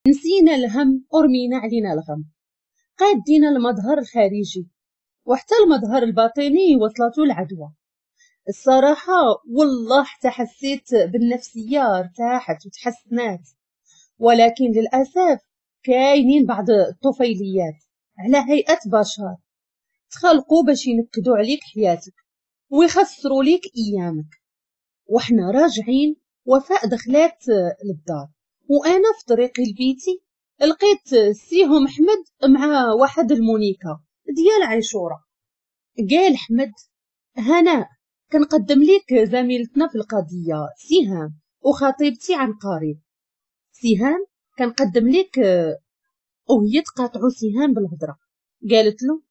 نسينا الهم ورمينا علينا الغم. قادينا المظهر الخارجي وحتى المظهر الباطني وصلته العدوى. الصراحة والله حتى حسيت بالنفسية ارتاحت وتحسنات، ولكن للأسف كاينين بعض الطفيليات على هيئة بشر تخلقوا باش ينكدوا عليك حياتك ويخسروا ليك ايامك. وحنا راجعين وفاء دخلات للدار وانا في طريقي لبيتي لقيت سيهم احمد مع واحد المونيكا ديال عاشوره. قال احمد: هناء كنقدم لك زميلتنا في القضية سهام وخطيبتي عن قريب. سهام كنقدم لك. وهي تقاطعو سهام بالهضره، قالت له: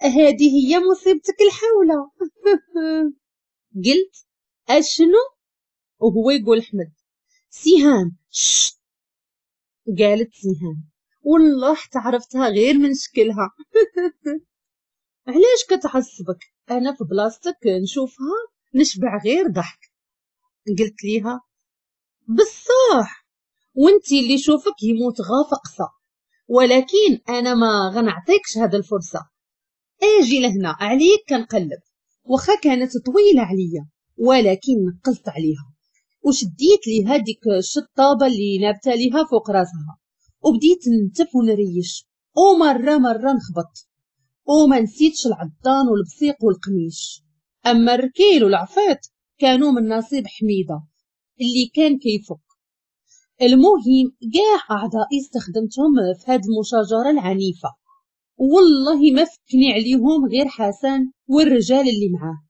هذه هي مصيبتك الحوله. قلت: اشنو؟ وهو يقول احمد: سهام شش. قالت سهام: والله حتى عرفتها غير من شكلها. علاش كتعصبك؟ انا في بلاصتك نشوفها نشبع غير ضحك. قلت ليها: بصح وانتي اللي شوفك يموت غافقصه، ولكن انا ما غنعطيكش هاد الفرصة. اجي لهنا عليك كنقلب. واخا كانت طويلة عليا ولكن نقزت عليها وشديت ليها ديك الشطابه اللي نابته ليها فوق راسها، وبديت نتف ونريش ومرة مرة نخبط، وما نسيتش العضان والبصيق والقميش. اما الركيل والعفيط كانوا من نصيب حميده اللي كان كيفك. المهم كاع اعضائي استخدمتهم في هاد المشاجره العنيفة، والله ما فكني عليهم غير حسن والرجال اللي معاه.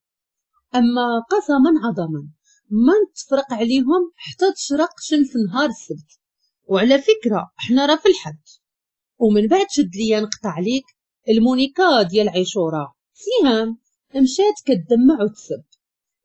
اما قسما عظما ما نتفرق عليهم حتى تشرق شمس نهار السبت. وعلى فكرة احنا راه في الحد. ومن بعد شد ليا نقطع عليك المونيكا ديال عاشوره سهام مشات كتدمع وتسب،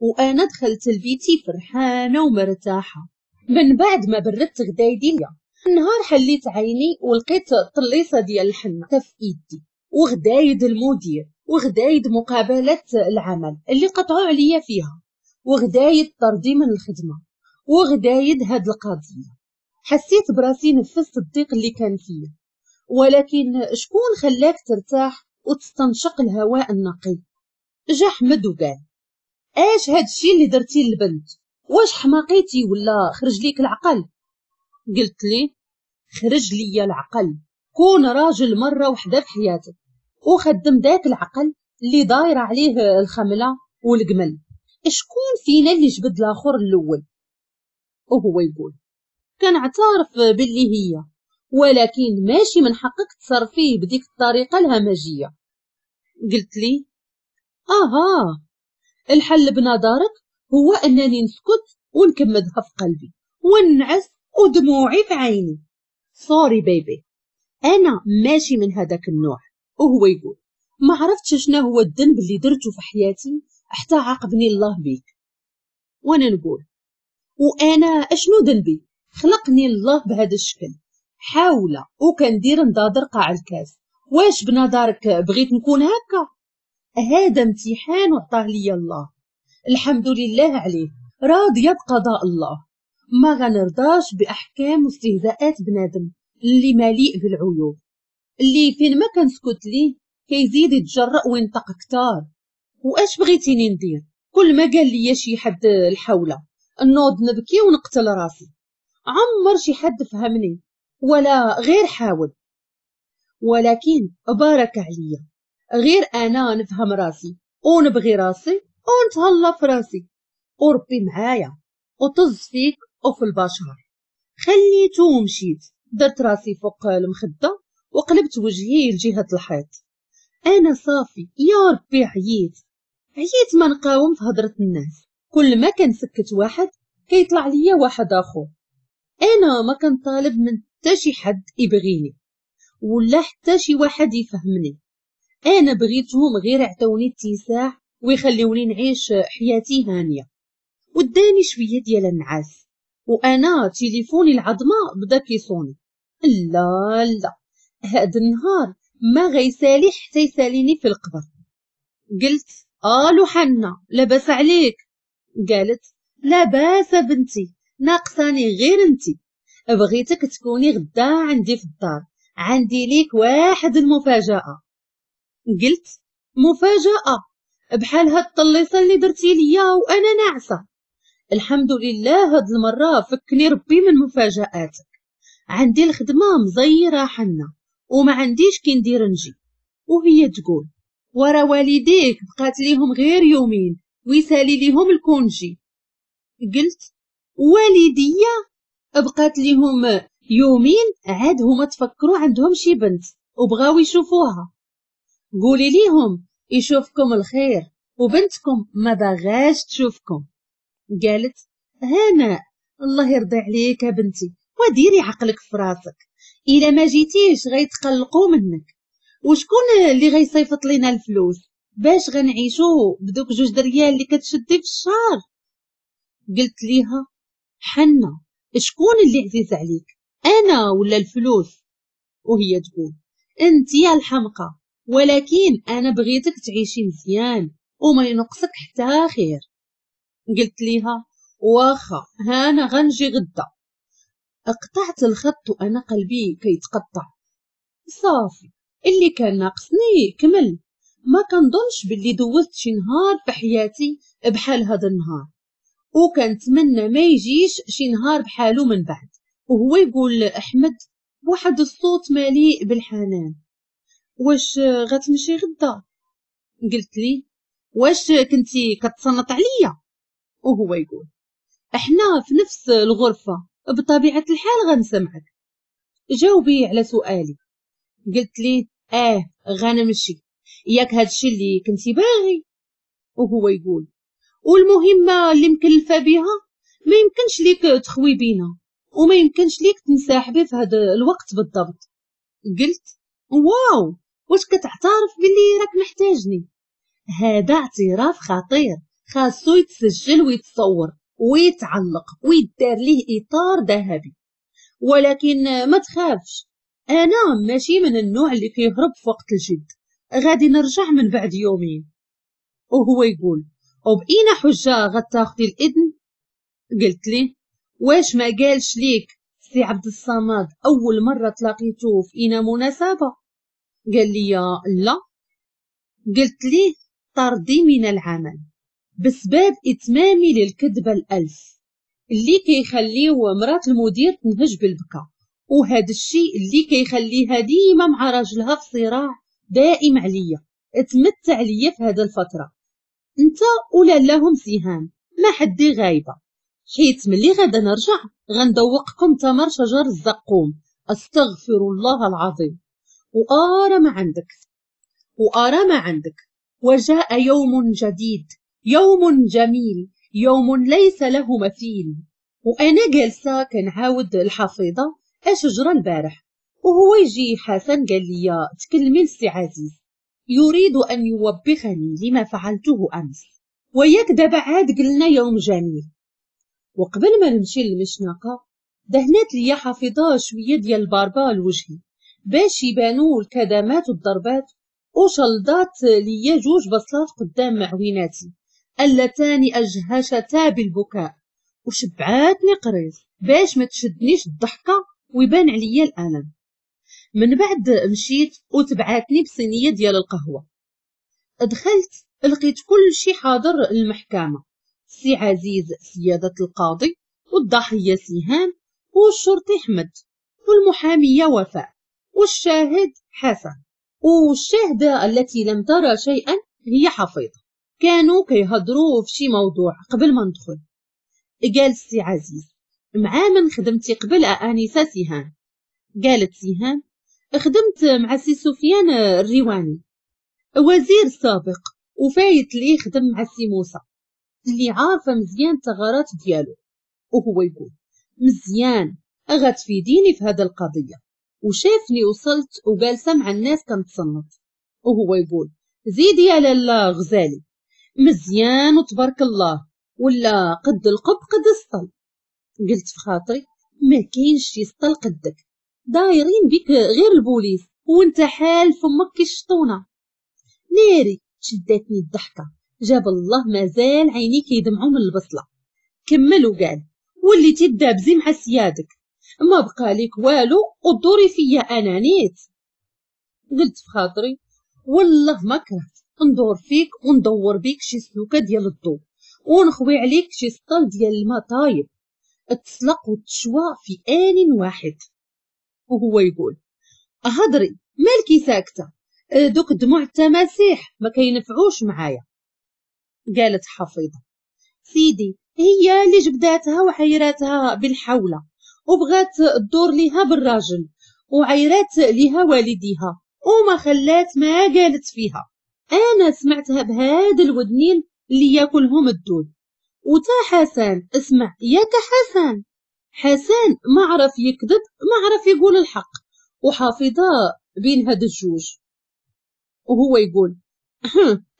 وانا دخلت لبيتي فرحانة ومرتاحه. من بعد ما بردت غدايدي ليا النهار حليت عيني ولقيت الطليصه ديال الحنة في ايدي، وغدايد المدير، وغدايد مقابله العمل اللي قطعوا عليا فيها، وغدايد طردي من الخدمة، وغدايد هاد القضية. حسيت براسي نفست الضيق اللي كان فيا، ولكن شكون خلاك ترتاح وتستنشق الهواء النقي؟ جا احمد وقال: اش هاد الشي اللي درتي للبنت؟ واش حماقيتي ولا خرج ليك العقل؟ قلت لي: خرج ليا العقل. كون راجل مرة وحده في حياتك وخدم داك العقل اللي داير عليه الخمله والجمل. شكون فينا اللي جبد الاخر الاول؟ وهو يقول: كنعترف باللي هي، ولكن ماشي من حقك تصرفيه بديك الطريقة الهمجية. قلت لي: اها، الحل بنظرك هو انني نسكت ونكمدها في قلبي ونعس ودموعي في عيني. sorry baby، انا ماشي من هذاك النوع. وهو يقول: ما عرفتش شنو هو الذنب اللي درته في حياتي حتى عاقبني الله بيك. وانا نقول: وانا اشنو ذنبي؟ خلقني الله بهذا الشكل، حاولة وكندير نضادر قاع الكاس. واش بنظرك بغيت نكون هكا؟ هذا امتحان وعطاه لي الله، الحمد لله عليه، راضية بقضاء الله. ما غنرضاش باحكام واستهزاءات بنادم اللي مليء بالعيوب، اللي فين ما كنسكت ليه كيزيد يتجرأ وينطق كتار. واش بغيتيني ندير؟ كل ما قال لي شي حد الحوله نوض نبكي ونقتل راسي. عمر شي حد فهمني ولا غير حاول، ولكن بارك عليا غير انا نفهم راسي ونبغي راسي ونتهلا في راسي وربي معايا وطز فيك وفي البشر. خليته ومشيت، درت راسي فوق المخدة وقلبت وجهي لجهة الحيط. انا صافي يا ربي، عييت عييت ما نقاوم في هضره الناس. كل ما كنسكت واحد كيطلع ليا واحد اخر. انا ما كنطالب من حتى شي حد يبغيني ولا حتى شي واحد يفهمني. انا بغيتهم غير يعطوني اتساع ويخليوني نعيش حياتي هانيه. وداني شوية ديال النعاس وانا تليفوني العظمة بدا كيصوني. لا لا، هاد النهار ما غيسالي حتى يساليني في القبر. قلت: الو حنا، لاباس عليك؟ قالت: لاباس بنتي، ناقصاني غير انتي. بغيتك تكوني غدا عندي في الدار، عندي ليك واحد المفاجأة. قلت مفاجأة بحال هاد الطليصة اللي درتي ليا وأنا ناعسة؟ الحمد لله هاد المرة فكني ربي من مفاجآتك، عندي الخدمة مزيرة حنا وما عنديش كي ندير نجي. وهي تقول ورا والديك بقات ليهم غير يومين ويسالي ليهم ال congé. قلت والديا بقات ليهم يومين عاد هما تفكروا عندهم شي بنت وبغاو يشوفوها، قولي ليهم يشوفكم الخير وبنتكم ما باغاش تشوفكم. قالت هنا الله يرضي عليك يا بنتي وديري عقلك في راسك، الا ما جيتيش غيتقلقوا منك، وشكون اللي غيصيفط لينا الفلوس باش غنعيشو بدوك 2 دريال اللي كتشدي في الشهر؟ قلت ليها حنا شكون اللي عزيز عليك، انا ولا الفلوس؟ وهي تقول انت يا الحمقى، ولكن انا بغيتك تعيشي مزيان وما ينقصك حتى خير. قلت ليها واخا هانا غنجي غدا. قطعت الخط وانا قلبي كيتقطع، صافي اللي كان ناقصني كمل. ما كنظنش باللي دوزت شي نهار في حياتي بحال هذا النهار، وكنتمنى ما يجيش شي نهار بحالو من بعد. وهو يقول احمد بواحد الصوت مليء بالحنان، واش غتمشي غدا؟ قلت لي واش كنتي كتصنت عليا؟ وهو يقول احنا في نفس الغرفة بطبيعة الحال غنسمعك، جاوبي على سؤالي. قلت لي غنمشي، ياك هادشي اللي كنتي باغي؟ وهو يقول والمهمة اللي مكلفة بها ما يمكنش ليك تخوي بينا وما يمكنش ليك تنسحبي في هذا الوقت بالضبط. قلت واو، واش كتعترف باللي راك محتاجني؟ هذا اعتراف خطير، خاصو يتسجل ويتصور ويتعلق ويدار ليه اطار ذهبي. ولكن ما تخافش، انا ماشي من النوع اللي كيهرب في وقت الجد، غادي نرجع من بعد يومين. وهو يقول وبقينا حجة غتاخدي الإذن؟ قلت ليه واش ما قالش ليك سي عبد الصمد أول مرة تلاقيتو في إنا مناسبة؟ قال لي لا. قلت ليه طردي من العمل بسبب إتمامي للكذبة الألف اللي كيخليو مرات المدير تنهج بالبكا، وهذا الشيء اللي كيخليها ديما مع راجلها في صراع دائم عليا، تمتع ليا في هذا الفترة انت ولا لهم سهام ما حدي غايبة، حيت ملي غادا نرجع غندوقكم تمر شجر الزقوم، استغفر الله العظيم. وآرى ما عندك وآرى ما عندك. وجاء يوم جديد، يوم جميل، يوم ليس له مثيل. وأنا جالسة كنعاود الحفيظة اش جرى البارح، وهو يجي حسن قال لي تكلمي لسي عزيز، يريد أن يوبخني لما فعلته أمس، وياك دابا عاد قلنا يوم جميل. وقبل ما نمشي للمشنقة دهنات ليا حفيظة شوية ديال الباربا لوجهي باش يبانو الكدمات والضربات، وشلضات ليا 2 بصلات قدام عويناتي اللتان أجهشتا بالبكاء، وشبعاتني قريص باش ما تشدنيش الضحكة ويبان عليا الألم. من بعد مشيت وتبعاتني بصينية ديال القهوة. دخلت لقيت كل شي حاضر المحكمة، سي عزيز سيادة القاضي، والضحية سهام، والشرطي أحمد، والمحامية وفاء، والشاهد حسن، والشاهدة التي لم ترى شيئا هي حفيظة. كانوا كيهضروا في شي موضوع قبل ما ندخل. قال سي عزيز مع من خدمتي قبل أنسة سهام؟ قالت سهام خدمت مع سي سفيان الريواني وزير سابق، وفايت لي خدم مع سي موسى اللي عارفه مزيان الثغرات ديالو. وهو يقول مزيان غتفيديني في هذا القضية. وشافني وصلت وجالسه مع الناس كنتصنت، وهو يقول زيدي يا لاله غزالي مزيان وتبارك الله، ولا قد القب قد السطل. قلت في خاطري ما كاينش شي سطل قدك، دايرين بك غير البوليس وانت حال فمك كي الشطونه. ناري شدتني الضحكة، جاب الله مازال عيني كيدمعوا من البصله. كمل وقال وليتي تدابزي مع سيادك، ما بقى لك والو ودوري فيا انا نيت. قلت في خاطري والله ما كرهت ندور فيك وندور بيك شي سلوكه ديال الضو ونخوي عليك شي سطل ديال الماء طايب تسلق وتشوى في آن واحد. وهو يقول هضري مالكي ساكته، دوك دموع التماسيح ما كينفعوش معايا. قالت حفيظة سيدي هي اللي جبداتها وعيراتها بالحوله وبغات تدور ليها بالراجل وعيرات ليها والديها وما خلات ما قالت فيها. انا سمعتها بهاد الودنين اللي ياكلهم الدود. وتا حسن اسمع ياك حسن، حسن ما عرف يكذب ما عرف يقول الحق، وحافظه بين هاد الجوج. وهو يقول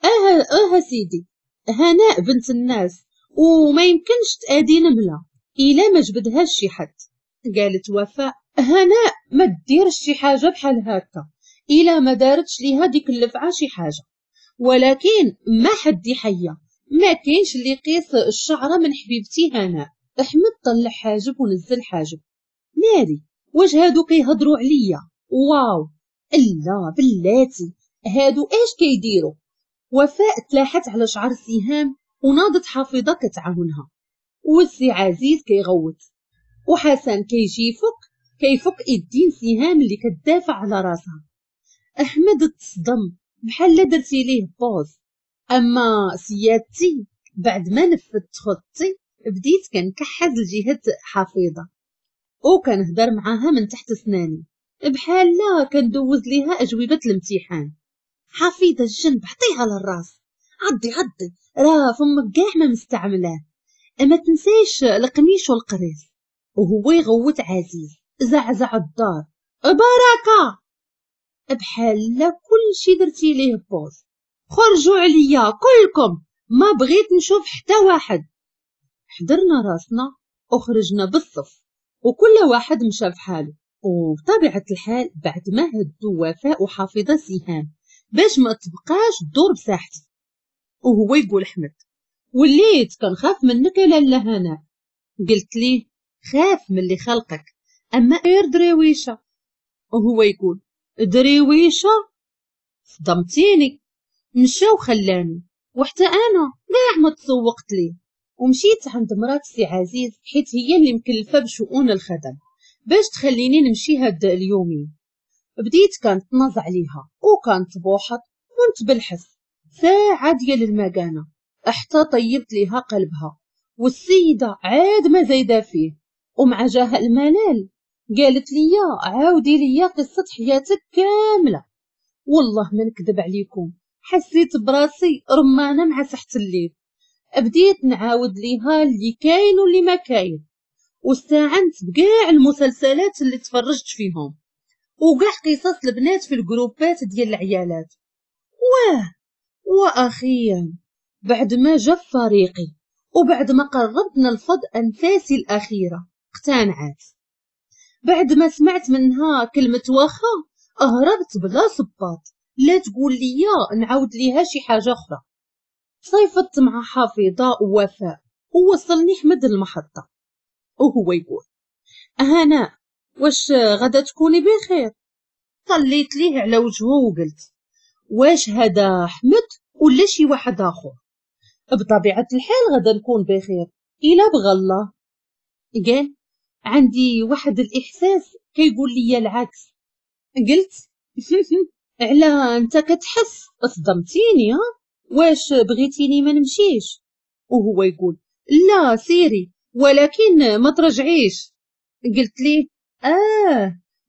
اه سيدي هناء بنت الناس وما يمكنش تأدي نملة إلا ما جبدهاش شي حد. قالت وفاء هناء ما ديرش شي حاجة بحال هكا إلا ما دارتش ليها ديك اللفعة شي حاجة، ولكن ما حد يحيا، ما كاينش اللي يقيس الشعرة من حبيبتي هناء. أحمد طلع حاجب ونزل حاجب، ناري واش هادو كيهضروا عليا؟ واو لا بلاتي هادو اش كيديروا؟ وفاء تلاحت على شعر سهام وناضت حافظة كتعاونها، والسي عزيز كيغوت وحسن كيجي كيفك ايدين سهام اللي كتدافع على راسها. احمد تصدم بحال درتي ليه pause. اما سيادتي بعد ما نفذت خطتي بديت كنكحز لجهة حفيظة وكنهدر معاها من تحت سناني بحال لا كندوز ليها اجوبه الامتحان. حفيظة الجنب عطيها للراس، عضي عضي راه فمك كاع ما مستعملاه، ما تنساش القميش والقريص. وهو يغوت عزيز زعزع الدار بركة بحال لا كلشي درتي ليه pause. خرجوا عليا كلكم ما بغيت نشوف حتى واحد. حضرنا راسنا وخرجنا بالصف وكل واحد مشى في حاله. وبطبيعة الحال بعد ما هدوا وفاء وحافظة سهام باش ما تبقاش تدور بساحتي. وهو يقول احمد وليت كنخاف منك يا لاله هناء. قلت ليه خاف من اللي خلقك اما غير دريويشه. وهو يقول دريويشه صدمتيني. مشى وخلاني وحتى انا كاع ما تسوقت ليه. ومشيت عند مرات سي عزيز حيت هي اللي مكلفة بشؤون الخدم باش تخليني نمشي هاد اليومين. بديت كنتنازع عليها وكنتبوحط ونتبلحس ساعة ديال المكانة حتى طيبت ليها قلبها، والسيدة عاد ما زايدة فيه. ومع جاها الملال قالت لي عاودي لي قصة حياتك كاملة. والله ما نكذب عليكم حسيت براسي رمانه مع سحه الليل. بديت نعاود ليها اللي كاين واللي ما كاين، واستعنت بكاع المسلسلات اللي تفرجت فيهم وكاع قصص البنات في الجروبات ديال العيالات. واه واخيرا بعد ما جا فريقي وبعد ما قربت نلفظ انفاسي الاخيرة اقتنعت. بعد ما سمعت منها كلمة واخا هربت بلا صباط، لا تقول لي نعاود ليها شي حاجة اخرى. صيفطت مع حفيظة ووفاء ووصلني حمد المحطة. وهو يقول هناء واش غدا تكوني بخير؟ طليت ليه على وجهه وقلت واش هذا حمد ولا شي واحد اخر؟ بطبيعة الحال غدا نكون بخير الا بغى الله. قال عندي واحد الاحساس كيقول لي العكس. قلت على انت كتحس صدمتيني ها، واش بغيتيني ما نمشيش؟ وهو يقول لا سيري ولكن ما ترجعيش. قلت ليه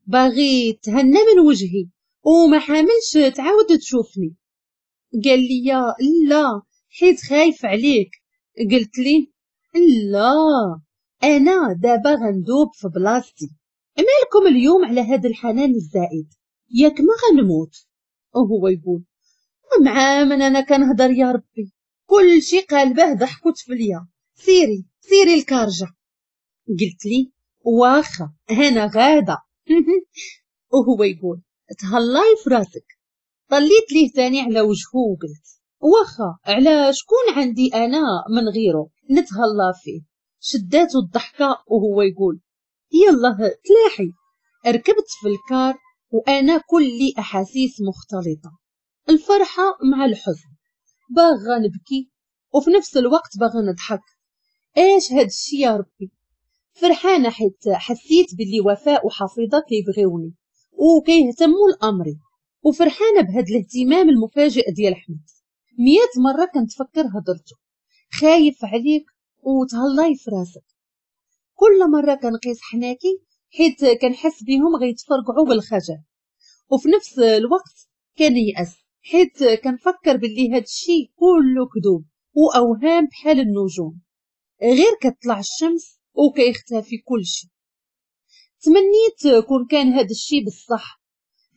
باغي تهنى من وجهي وما حاملش تعاود تشوفني. قال لي لا حيت خايف عليك. قلت ليه لا انا دابا غندوب في بلاصتي، مالكم اليوم على هذا الحنان الزائد، ياك ما غنموت. وهو يقول مع من انا كنهضر يا ربي، كل شي قالبه ضحك وتفليه، سيري سيري الكارجه. قلت لي واخا انا غاده. وهو يقول تهلاي في راسك. طليت ليه تاني على وجهه وقلت واخا على شكون عندي انا من غيره نتهلا فيه. شداتو الضحكة وهو يقول يلا تلاحي. ركبت في الكار وانا كلي احاسيس مختلطة، الفرحة مع الحزن، باغا نبكي وفي نفس الوقت باغا نضحك. ايش هاد الشي يا ربي؟ فرحانة حيت حسيت باللي وفاء وحفيظه كيبغيوني وكيهتموا لامري، وفرحانه بهاد الاهتمام المفاجئ ديال احمد. 100 مرة كنتفكر هضرته، خايف عليك وتهلاي في راسك. كل مرة كنقيس حناكي حيت كنحس بهم غيتفرقعوا بالخجل، وفي نفس الوقت كنيأس حيت كنفكر باللي هاد الشي كله كذوب واوهام بحال النجوم، غير كتطلع الشمس وكيختفي كل شيء. تمنيت كون كان هاد الشي بالصح.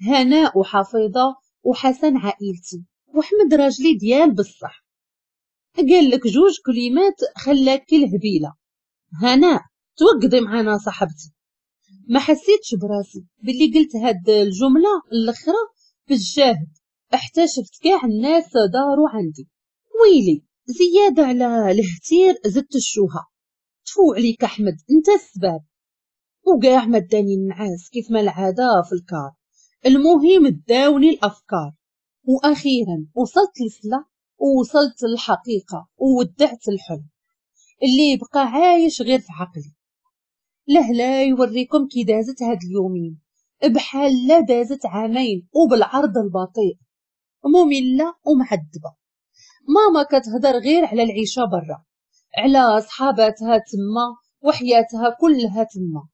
هناء وحفيظه وحسن عائلتي وحمد راجلي ديال بالصح. قال لك 2 كلمات خلاك الهبيله. هناء توقضي معنا صاحبتي. ما حسيتش براسي باللي قلت هاد الجملة الاخرى بالجاهد، حتى شفت كاع الناس داروا عندي. ويلي زيادة على الهتير زدت الشوهه. تفو عليك احمد، انت السبب. وكاع ما داني النعاس كيف ما العادة في الكار. المهم داوني الافكار، واخيرا وصلت لسلا ووصلت للحقيقة وودعت الحلم اللي بقى عايش غير في عقلي. لهلا يوريكم كي دازت هاد اليومين، بحال لا دازت عامين وبالعرض البطيء، مملة ومعذبه. ماما كتهضر غير على العيشة برا، على صحاباتها تما وحياتها كلها تما.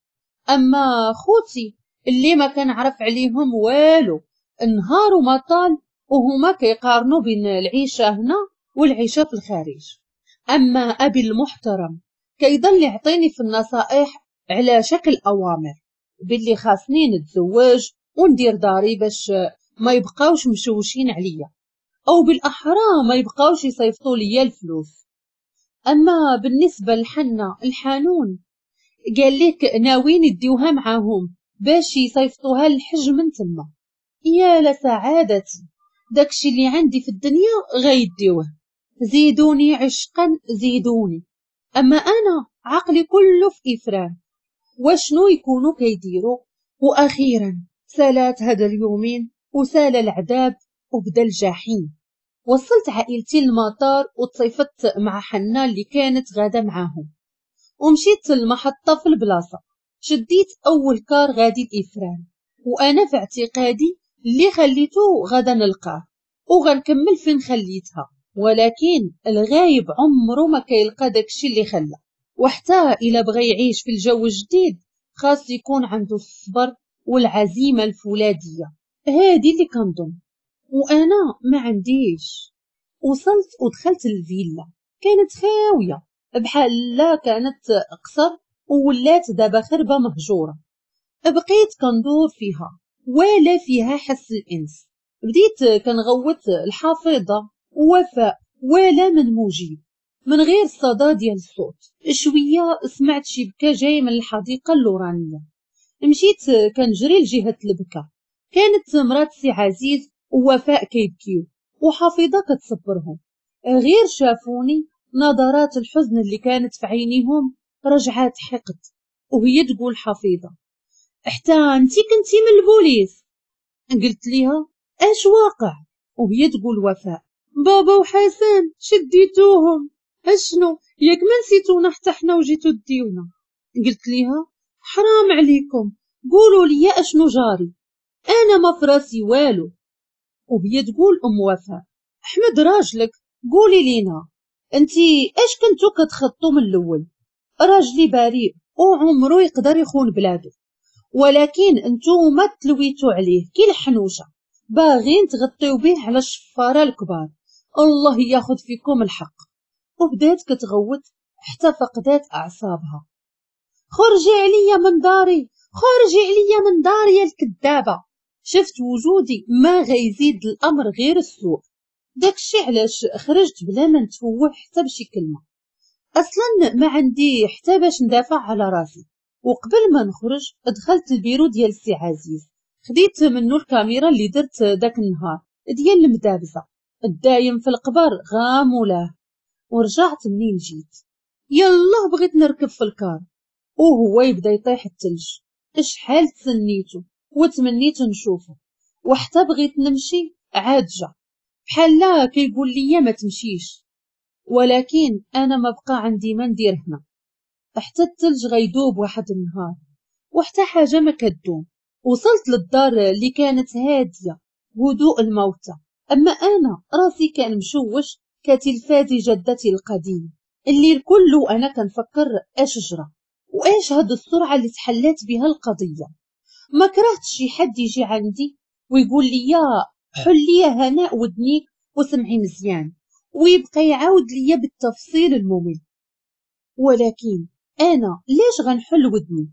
اما خوتي اللي ما كنعرف عليهم والو، النهار وما طال وهما كيقارنوا بين العيشة هنا والعيشه في الخارج. اما ابي المحترم كيضل يعطيني في النصائح على شكل اوامر باللي خاصني نتزوج وندير داري باش ما يبقاوش مشوشين عليا، او بالاحرى ما يبقاوش يصيفطوا ليا الفلوس. اما بالنسبة لحنا الحانون قال لك ناويين يديوها معاهم باش يصيفطوها للحج من تما. يا لسعادتي، داكشي اللي عندي في الدنيا غيديوه. زيدوني عشقا زيدوني. اما انا عقلي كله في افران وشنو يكونوا كيديروا. واخيرا سالات هذا اليومين وسال العذاب وبدا الجحيم. وصلت عائلتي للمطار وتصيفت مع حنا اللي كانت غاده معاهم، ومشيت للمحطه في البلاصة. شديت اول كار غادي لإفران، وانا في اعتقادي اللي خليته غادا نلقاه وغنكمل فين خليتها، ولكن الغايب عمره ما كيلقى داكشي اللي خلى. وحتى الا بغى يعيش في الجو الجديد خاص يكون عنده الصبر والعزيمة الفولاذيه، هادي اللي كنظن وانا ما عنديش. وصلت ودخلت الفيلا، كانت خاوية بحال لا كانت قصر وولات دابا خربه مهجورة. بقيت كندور فيها ولا فيها حس الانس. بديت كنغوت الحافظة ووفاء ولا من مجيب من غير الصدى ديال الصوت. شوية سمعت شي بكا جاي من الحديقة اللورانيه. مشيت كنجري لجهة البكا، كانت مرات سي عزيز ووفاء كيبكيو وحفيظه كتصبرهم. غير شافوني نظرات الحزن اللي كانت في عينيهم رجعات حقد، وهي تقول حفيظة حتى انتي كنتي من البوليس. قلت ليها اش واقع؟ وهي تقول وفاء بابا وحسن شديتوهم، اشنو ياك ما نسيتونا حتى حنا وجيتو ديونا. قلت ليها حرام عليكم، قولوا لي اشنو جاري، انا ما فراسي والو. وهي تقول ام وفاء احمد راجلك قولي لينا انتي اش كنتو كتخطوا من الاول؟ راجلي بريء وعمرو يقدر يخون بلادو، ولكن انتوما تلويتو عليه كي الحنوشه، باغين تغطيو به على الشفاره الكبار، الله ياخذ فيكم الحق. وبدات كتغوت حتى فقدات اعصابها. خرجي عليا من داري، خرجي عليا من داري يا الكذابه. شفت وجودي ما غيزيد الامر غير السوء، داكشي علاش خرجت بلا ما نتفوه حتى بشي كلمة، اصلا ما عندي حتى باش ندافع على راسي. وقبل ما نخرج دخلت البيرو ديال السي عزيز، خديت منه الكاميرا اللي درت داك النهار ديال المدابزه الدايم في القبر غامولاه، ورجعت منين جيت. يلا بغيت نركب في الكار، وهو يبدا يطيح الثلج. شحال تسنيتو وتمنيت نشوفه، وحتى بغيت نمشي عاد جا بحال لا كيقول لي ما تمشيش، ولكن انا ما بقى عندي ما ندير هنا. حتى الثلج غيدوب واحد النهار وحتى حاجة ما كدوم. وصلت للدار اللي كانت هادية هدوء الموتى، اما انا راسي كان مشوش كتلفاز جدتي القديم. الليل كله انا كنفكر اش جرى واش هاد السرعة اللي تحلات بها القضية. ما كرهتش شي حد يجي عندي ويقول لي حلي هناء ودنيك وسمعي مزيان، ويبقى يعاود ليا بالتفصيل الممل. ولكن انا ليش غنحل ودني؟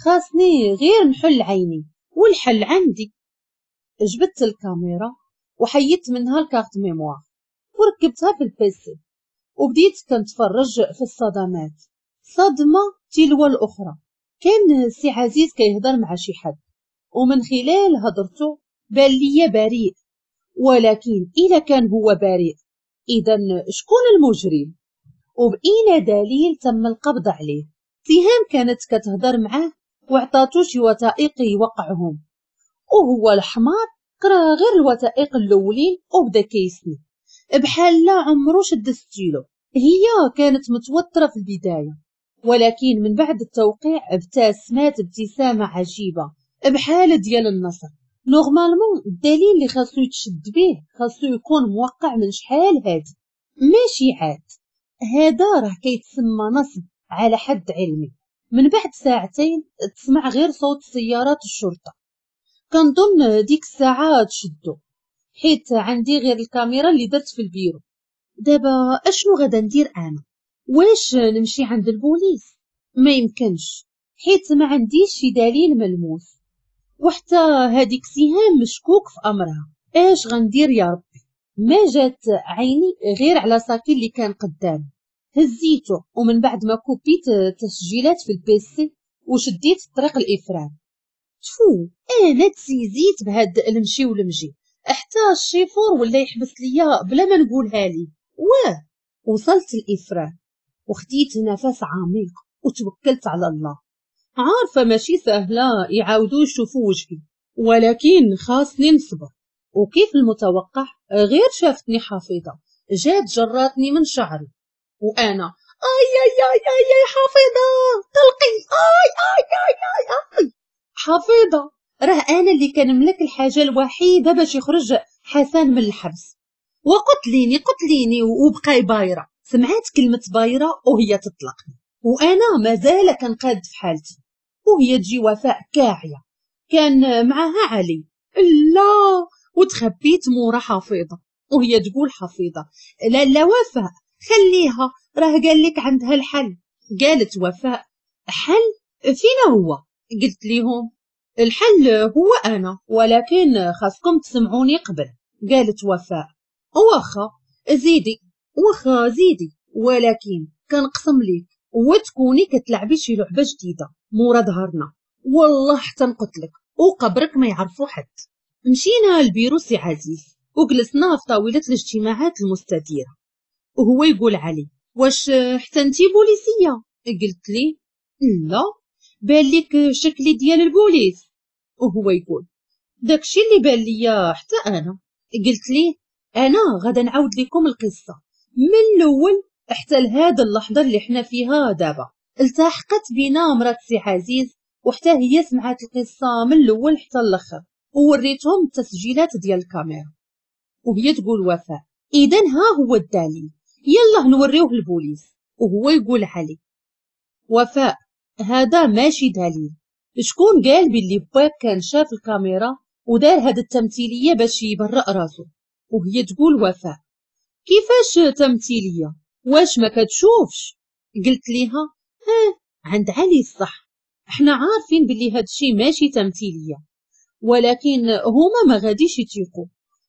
خاصني غير نحل عيني والحل عندي. جبدت الكاميرا وحيدت منها ال carte mémoire وركبتها في ال PC وبديت كنتفرج في الصدمات، صدمة تلو الأخرى. كان سي عزيز كيهضر مع شي حد ومن خلال هضرته بان ليا بريء، ولكن إذا كان هو بريء إذا شكون المجرم؟ وبأين دليل تم القبض عليه؟ سهام كانت كتهضر معاه وعطاتو شي وثائق يوقعهم، وهو الحمار قرا غير الوثائق الاولين وبدا كيسني بحال لا عمرو شد ستيلو. هي كانت متوترة في البداية، ولكن من بعد التوقيع ابتسمات ابتسامة عجيبة بحال ديال النصر. normalement الدليل اللي خاصو يتشد به خاصو يكون موقع من شحال هادي، ماشي عاد. هذا راه كيتسمى نصب على حد علمي. من بعد ساعتين تسمع غير صوت سيارات الشرطة. كنظن ديك الساعة تشدو، حيت عندي غير الكاميرا اللي درت في البيرو. دابا اشنو غادا ندير انا؟ واش نمشي عند البوليس؟ ما يمكنش، حيت ما عنديش شي دليل ملموس، وحتى هذيك سهام مشكوك في امرها. اش غندير يا ربي؟ ما جات عيني غير على sac ي اللي كان قدامي، هزيته ومن بعد ما كوبيت تسجيلات في ال PC وشديت الطريق الافران. تفو، انا تسيزيت بهاد المشي والمجي، حتى الشيفور ولا يحبس ليا بلا ما نقولها لي. واه، وصلت الافران وخديت نفس عميق وتوكلت على الله. عارفه ماشي سهلة يعاودوا يشوفوا وجهي، ولكن خاصني نصبر. وكيف المتوقع غير شافتني حفيظة جات جراتني من شعري، وانا اي اي اي اي اي حفيظة طلقي، اي اي اي اي اي حفيظة، راه انا اللي كنملك الحاجة الوحيدة باش يخرج حسن من الحبس. وقتليني قتليني وبقاي بايره. سمعت كلمة بايره وهي تطلقني، وانا مازال كنقاد في حالتي. وهي تجي وفاء كاعيه كان معاها علي، لا، وتخبيت مورا حفيظة. وهي تقول حفيظة لا لا وفاء خليها، راه قال لك عندها الحل. قالت وفاء حل فينا هو؟ قلت لهم الحل هو انا، ولكن خاصكم تسمعوني قبل. قالت وفاء واخا زيدي، واخا زيدي، ولكن كنقسم ليك وتكوني كتلعبي شي لعبه جديدة مورا ظهرنا، والله حتى نقتلك وقبرك ما يعرفو حد. مشينا للبيرو سي عزيز وجلسنا في طاولة الاجتماعات المستديرة، وهو يقول علي واش حتى انتي بوليسيه؟ قلت لي لا، بان لك شكلي ديال البوليس. وهو يقول داكشي اللي بان ليا حتى انا. قلت ليه انا غادا نعاود لكم القصة من الاول حتى لهاد اللحظة اللي حنا فيها دابا. التحقت بينا مرات سي عزيز وحتى هي سمعت القصة من الاول حتى الاخر، ووريتهم التسجيلات ديال الكاميرا. وهي تقول وفاء اذا ها هو الدليل، يلا نوريوه للبوليس. وهو يقول علي وفاء هذا ماشي دليل، شكون قال باللي باك كان شاف الكاميرا ودار هاد التمثيلية باش يبرأ راسو؟ وهي تقول وفاء كيفاش تمثيلية؟ واش ما كتشوفش؟ قلت ليها ها عند علي الصح، احنا عارفين باللي هادشي ماشي تمثيلية، ولكن هما ما غاديش يتيقوا،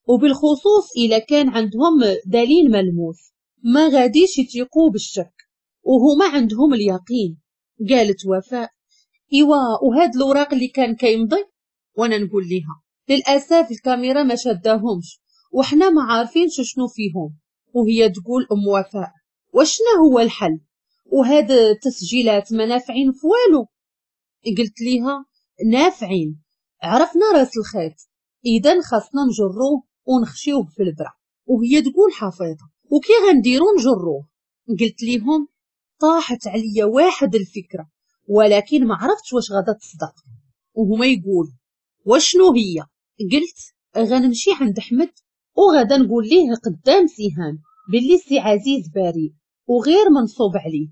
وبالخصوص الا كان عندهم دليل ملموس ما غاديش يتيقوا بالشك، وهما عندهم اليقين. قالت وفاء ايوا وهاد الاوراق اللي كان كيمضي؟ وانا نقول ليها للاسف الكاميرا ما شداهمش وحنا ما عارفينش شنو فيهم. وهي تقول ام وفاء وشنا هو الحل؟ وهاد التسجيلات ما نافعين في والو. قلت ليها نافعين، عرفنا راس الخيط، اذا خاصنا نجروه ونخشيوه في البرا. وهي تقول حفيظة وكي غنديرو نجروه؟ قلت ليهم طاحت عليا واحد الفكرة ولكن ما عرفتش واش غادا تصدق. وهما يقول وشنو هي؟ قلت غنمشي عند احمد وغادا نقول ليه قدام سهام باللي سي عزيز بريء وغير منصوب عليه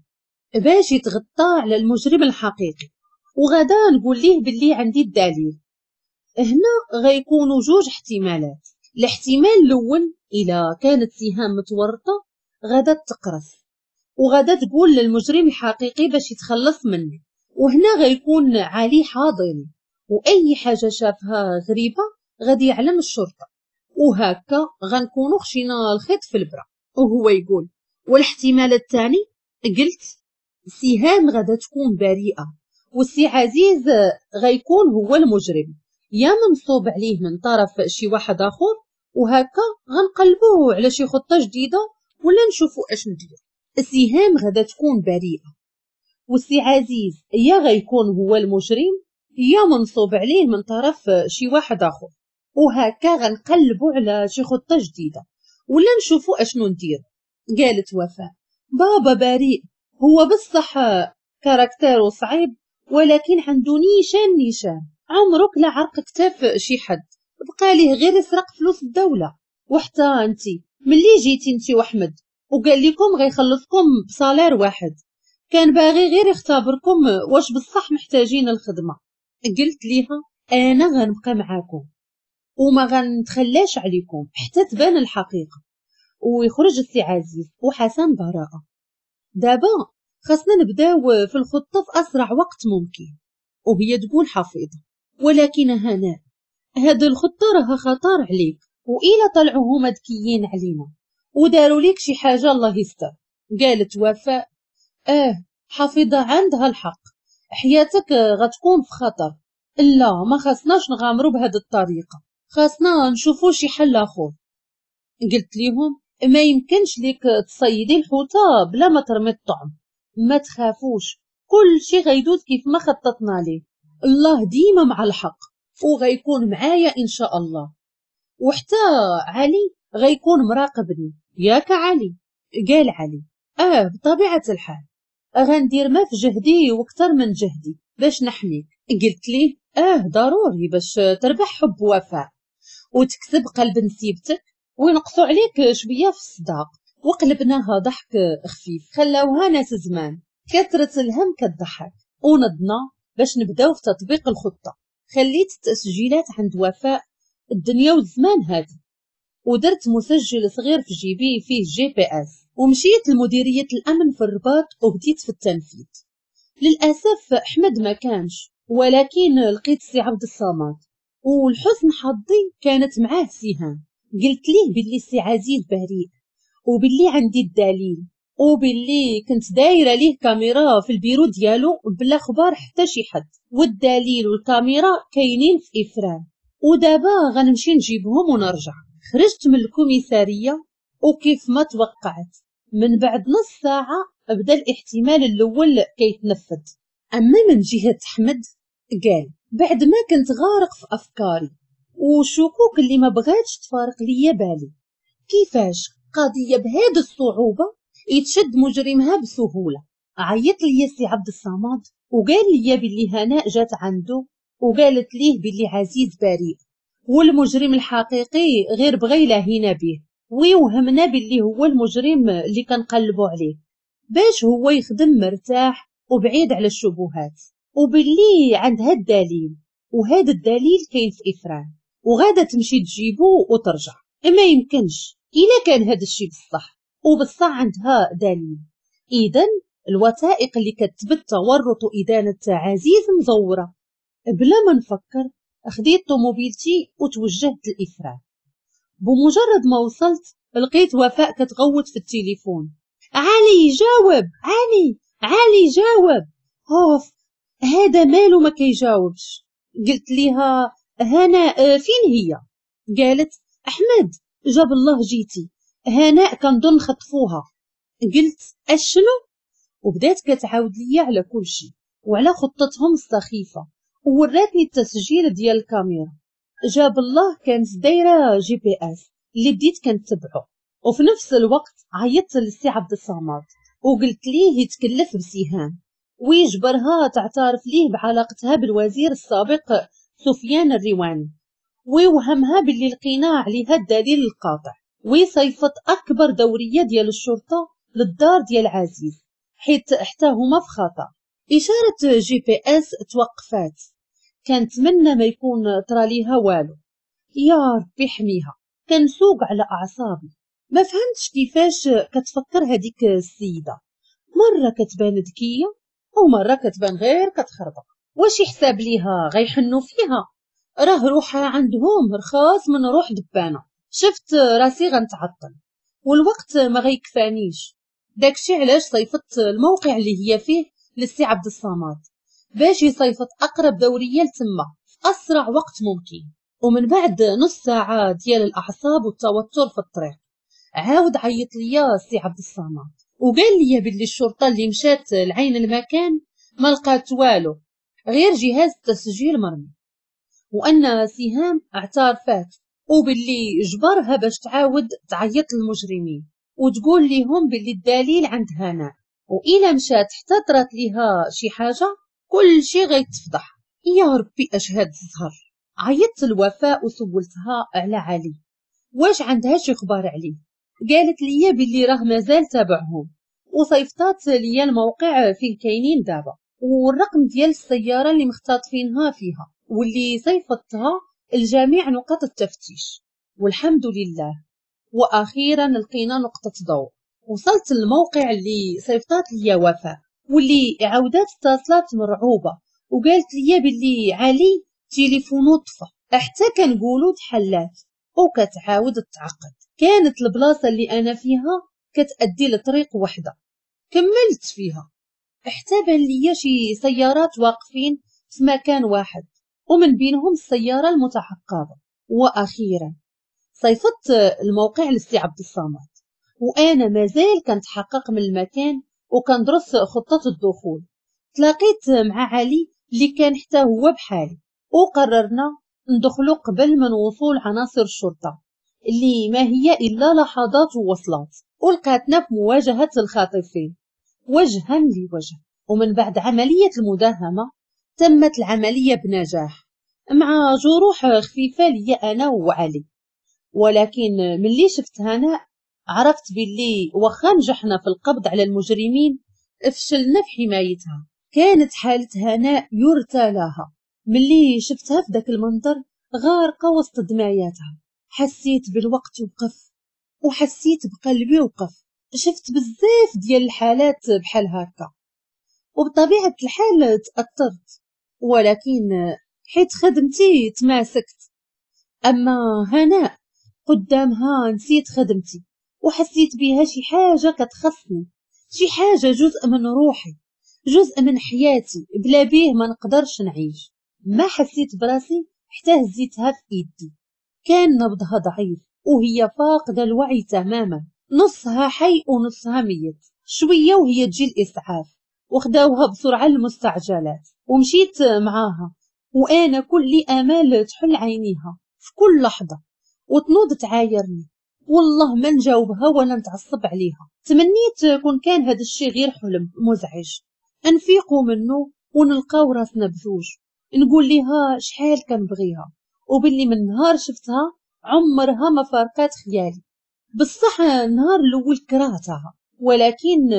باش يتغطى على المجرم الحقيقي، وغادا نقول ليه باللي عندي الدليل. هنا غيكونوا جوج احتمالات. الاحتمال الاول الا كانت سهام متورطة غادا تقرص وغادا تقول للمجرم الحقيقي باش يتخلص منه، وهنا غيكون علي حاضر واي حاجة شافها غريبة غادي يعلم الشرطة، وهكا غنكونوا خشينا الخيط في البرا. وهو يقول والاحتمال الثاني، قلت سهام غادا تكون بريئة والسي عزيز غيكون هو المجرم، يا منصوب عليه من طرف شي واحد اخر، وهكا غنقلبوه على شي خطه جديدة ولا نشوفوا اش ندير. سهام غادا تكون بريئة والسي عزيز يا غيكون هو المجرم يا منصوب عليه من طرف شي واحد اخر، وهكا غنقلبوا على شي خطه جديدة ولا نشوفوا اشنو ندير. قالت وفاء بابا بريء، هو بصح caractère و صعيب ولكن عنده نيشان نيشان، عمرك لا عرق كتاف شي حد، بقى ليه غير يسرق فلوس الدولة. وحتى انتي ملي جيتي انتي واحمد وقال لكم غيخلصكم ب salaire واحد، كان باغي غير يختبركم واش بصح محتاجين الخدمة. قلت ليها انا غنبقى معاكم وما غنتخلاش عليكم حتى تبان الحقيقة ويخرج السي عزيز وحسن براءه. دابا خاصنا نبداو في الخطة في اسرع وقت ممكن. وهي تقول حفيظة ولكن هناء هاد الخطة راها خطر عليك، وإلا طلعوا هما ذكيين علينا وداروا ليك شي حاجة الله يستر. قالت وفاء حفيظة عندها الحق، حياتك غتكون في خطر، لا ما خاصناش نغامروا بهاد الطريقة، خاصنا نشوفوا شي حل اخر. قلت ليهم ما يمكنش ليك تصيدي الحوته بلا ما ترمي الطعم، ما تخافوش كل شي غيدوز كيف ما خططنا ليه، الله ديما مع الحق وغيكون معايا ان شاء الله، وحتى علي غيكون مراقبني، ياك علي؟ قال علي بطبيعة الحال غندير ما في جهدي واكثر من جهدي باش نحميك. قلت ليه ضروري باش تربح حب وفاء وتكسب قلب نسيبتك وينقصوا عليك شوية في الصداق. وقلبناها ضحك خفيف، خلاوها ناس زمان كثرة الهم كتضحك. ونضنا باش نبداو في تطبيق الخطة. خليت التسجيلات عند وفاء الدنيا والزمان هادي، ودرت مسجل صغير في جيبي فيه GPS، ومشيت لمديريه الامن في الرباط وبديت في التنفيذ. للاسف احمد ما كانش، ولكن لقيت سي عبد الصمد، والحسن حظي كانت معاه سهام. قلت ليه باللي سي عزيز بريء وباللي عندي الدليل وباللي كنت دايرة ليه كاميرا في البيرو ديالو بلا خبار حتى شي حد، والدليل والكاميرا كاينين في افران، ودابا غنمشي نجيبهم ونرجع. خرجت من ال commissariat وكيف ما توقعت من بعد نص ساعة بدا الاحتمال الاول كيتنفذ. اما من جهة احمد قال بعد ما كنت غارق في افكاري وشكوك اللي ما بغاتش تفارق ليا بالي، كيفاش قضية بهذه الصعوبة يتشد مجرمها بسهولة. عيط لي سي عبد الصمد وقال لي باللي هناء جات عنده وقالت ليه باللي عزيز بريء والمجرم الحقيقي غير بغى يلاهينا به ويوهمنا باللي هو المجرم اللي كنقلبوا عليه باش هو يخدم مرتاح وبعيد على الشبهات، وباللي عندها الدليل وهذا الدليل كاين في افران وغادا تمشي تجيبو وترجع. ما يمكنش الا كان هذا الشيء بصح وبصح عندها دليل، اذا الوثائق اللي كتثبت تورط ادانة عزيز مزوره. بلا ما نفكر خديت طوموبيلتي وتوجهت لإفران. بمجرد ما وصلت لقيت وفاء كتغوت في التليفون، علي جاوب، علي علي جاوب. اوف هذا مالو ما كيجاوبش. قلت ليها هناء فين هي؟ قالت احمد جاب الله جيتي، هناء كنظن خطفوها. قلت اشنو؟ وبدات كتعاود ليا على كل شيء وعلى خطتهم السخيفة، ووراتني التسجيل ديال الكاميرا. جاب الله كانت دايرة GPS اللي بديت كنتبعو. وفي نفس الوقت عيطت للسي عبد الصمد وقلت ليه يتكلف بسهام ويجبرها تعترف ليه بعلاقتها بالوزير السابق سفيان الرواني، ويوهمها باللي لقينا عليها الدليل القاطع، ويصيفط اكبر دورية ديال الشرطة للدار ديال عزيز حيت حتى هما في خطر. اشارة GPS توقفات، كنتمنى ما يكون طرا ليها والو، يا ربي حميها. كنسوق على اعصابي، ما فهمتش كيفاش كتفكر هذيك السيدة، مرة كتبان ذكية ومرة كتبان غير كتخربق. واش يحساب ليها غيحنوا فيها؟ راه روحها عندهم رخاص من روح دبانه. شفت راسي غنتعطل والوقت ما غيكفانيش، داكشي علاش صيفطت الموقع اللي هي فيه للسي عبد الصمد باش يصيفط اقرب دورية لتما في اسرع وقت ممكن. ومن بعد نص ساعة ديال الاعصاب والتوتر في الطريق، عاود عيط ليا السي عبد الصمد وقال لي باللي الشرطة اللي مشات لعين المكان ما لقات والو غير جهاز تسجيل مرمي، وان سهام اعترفات وباللي جبرها باش تعاود تعيط للمجرمين وتقول لهم باللي الدليل عند هناء، وإلا مشات حتى طرات ليها شي حاجة كل شي غيتفضح. يا ربي اش هاد الزهر. عيطت الوفاء وسولتها على علي واش عندها شي خبار عليه، قالت لي باللي راه مازال تابعهم، وصيفطات ليا الموقع فين كاينين دابا والرقم ديال السيارة اللي مختطفينها فيها واللي صيفطتها لجميع نقاط التفتيش. والحمد لله واخيرا لقينا نقطة ضوء. وصلت للموقع اللي صيفطات ليا وفاء واللي عاودات اتصلات مرعوبه وقالت لي باللي علي تليفونو طفى حتى كنقولو تحلات وكتعاود تعقد. كانت البلاصة اللي انا فيها كتأدي لطريق وحده، كملت فيها حتى بان ليا شي سيارات واقفين في مكان واحد ومن بينهم السيارة المتعقبه. واخيرا صيفطت الموقع للسي عبد الصمد وانا مازال كنتحقق من المكان وكندرس خطه الدخول. تلاقيت مع علي اللي كان حتى هو بحالي، وقررنا ندخلو قبل من وصول عناصر الشرطة اللي ما هي الا لحظات ووصلت ولقاتنا في مواجهة الخاطفين وجها لوجه. ومن بعد عملية المداهمه تمت العملية بنجاح مع جروح خفيفة لي انا وعلي، ولكن ملي شفت هناء عرفت باللي واخا نجحنا في القبض على المجرمين فشلنا في حمايتها. كانت حالة هناء يرثى لها، ملي شفتها في داك المنظر غارقة وسط دماياتها حسيت بالوقت وقف وحسيت بقلبي وقف. شفت بزاف ديال الحالات بحال هكا وبطبيعة الحال تأثرت، ولكن حيت خدمتي تماسكت. أما هناء قدامها نسيت خدمتي وحسيت بها شي حاجة كتخصني، شي حاجة جزء من روحي، جزء من حياتي، بلا بيه ما نقدرش نعيش. ما حسيت براسي حتى هزيتها في ايدي، كان نبضها ضعيف وهي فاقدة الوعي تماما، نصها حي ونصها ميت. شوية وهي تجي الإسعاف وخداوها بسرعة للمستعجلات ومشيت معاها وأنا كل آمال تحل عينيها في كل لحظة وتنوض تعايرني، والله ما نجاوبها ولا نتعصب عليها. تمنيت كون كان هذا الشيء غير حلم مزعج نفيقوا منه ونلقاو راسنا بزوج، نقول لها شحال كنبغيها وباللي من نهار شفتها عمرها ما فارقات خيالي. بصح النهار الاول كرهتها، ولكن